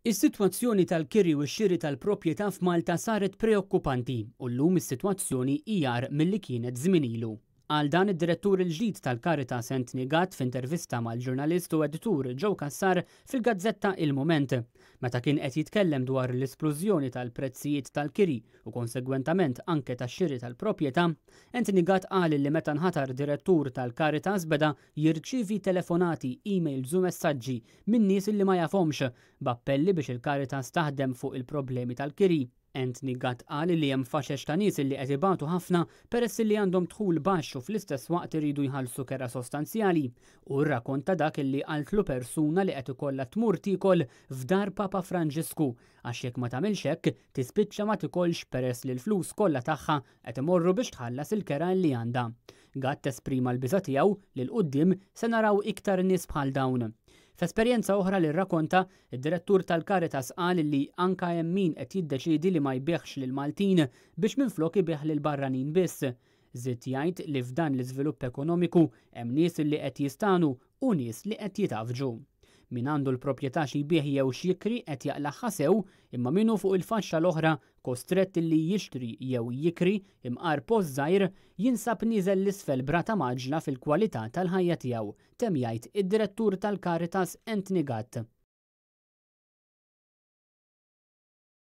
Is-sitwazzjoni tal-kiri u x-xiri tal-proprjetà f'Malta saret preokkupanti u llum is-sitwazzjoni hi agħar milli kienet żmien ilu. Qal dan id-Direttur il-ġdid tal-Caritas Anthony Gatt f'intervista mal-ġurnalist u editur Joe Cassar fil-gazzetta Il-Mument. Meta kien qed jitkellem dwar l-isplużjoni tal-prezzijiet tal-kiri u konsegwentament anke tax-xiri tal-proprjetà, Anthony Gatt qal li meta nħatar Direttur tal-Caritas beda jirċievi telefonati, emails u messaġġi minn nies li ma jafhomx b'appelli biex il-Caritas taħdem fuq il-problemi tal-kiri. Anthony Gatt qal li hemm faxex ta' nies li qed ibatu ħafna peress li għandhom dħul baxx u fl-istess waqt iridu jħallsu kera sostanzjali. U rrakonta dak li qaltlu persuna li qed ikollha tmur tiekol f'dar Papa Franġisku għax jekk ma tagħmilx hekk tispiċċa ma tikolx peress li l-flus kollha tagħha qed imorru biex tħallas il-kera li għandha. Gatt esprima l-biża' tiegħu li 'l quddiem se naraw iktar nies bħal dawn. F'esperjenza oħra li rrakonta, id-direttur tal-Caritas qal li anka hemm min qed jiddeċiedi li ma jbigħx lil Maltin biex minflok ibigħ lil barranin biss. Żied jgħid li f'dan l-iżvilupp ekonomiku hemm nies li qed jistanu u nies li qed jitafġu. Min għandu l-proprjetà xi jbigħ jew x'jikri qed jaqlagħha sew, imma min hu fuq il-faxxa l-oħra kostrett li jixtri jew jikri imqar post żgħir jinsab nieżel 'l isfel b'rata mgħaġġla fil-kwalità tal-ħajja tiegħu, temm jgħid id-direttur tal-Caritas Anthony Gatt.